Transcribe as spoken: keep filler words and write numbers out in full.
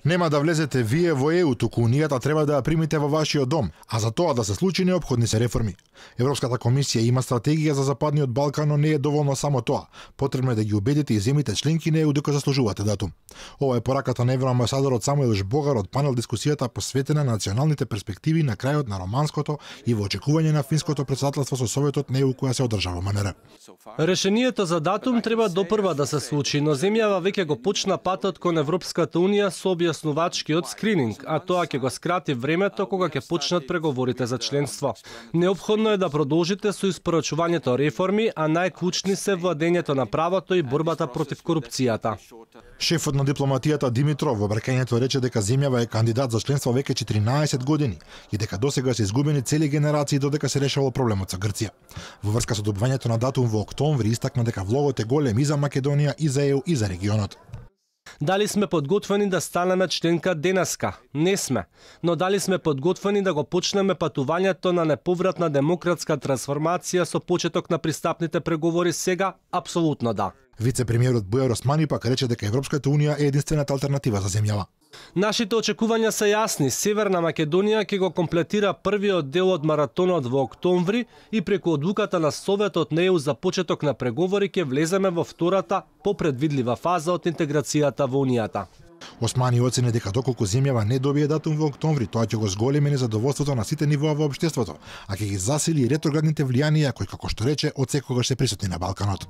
Нема да влезете вие во Е У, туку Унијата треба да ја примите во вашиот дом, а за тоа да се случи неопходни се реформи. Европската комисија има стратегија за Западниот Балкан, но не е доволно само тоа. Потребно е да ги убедите и земите членки на Е У дека заслужувате датум. Ова е пораката на евроамбасадорот Самуел Жбогар од панел дискусијата посветена на националните перспективи на крајот на романското и во очекување на финското председателство со Советот на Е У која се одржава во МНР. Решението за датум треба допрва да се случи, но земјава веќе го почна патот кон Европската Унија со објаснувачкиот скрининг, а тоа ќе го скрати времето кога ќе почнат преговорите за членство. Неопходно е да продолжите со испорачувањето реформи, а најклучни се владењето на правото и борбата против корупцијата. Шефот на дипломатијата Димитров во обраќањето рече дека земјава е кандидат за членство веќе четиринаесет години и дека досега се изгубени цели генерации додека се решавал проблемот со Грција. Во врска со добивањето на датум во октомври истакна дека влогот е голем и за Македонија, и за Е У, и за регионот. Дали сме подготвени да станеме членка денеска? Не сме. Но дали сме подготвени да го почнеме патувањето на неповратна демократска трансформација со почеток на пристапните преговори сега? Апсолутно да. Вице-премиерот Бујар Османи пак рече дека Европската Унија е единствената алтернатива за земјава. Нашите очекувања се јасни. Северна Македонија ќе го комплетира првиот дел од маратонот во октомври и преку одлуката на Советот на Е У за почеток на преговори ќе влеземе во втората, попредвидлива фаза од интеграцијата во Унијата. Османи оцени дека доколку земјава не добие датум во октомври, тоа ќе го зголеми незадоволството на сите нивоа во општеството, а ќе ги засили ретроградните влијанија кои, како што рече, од секогаш се присутни на Балканот.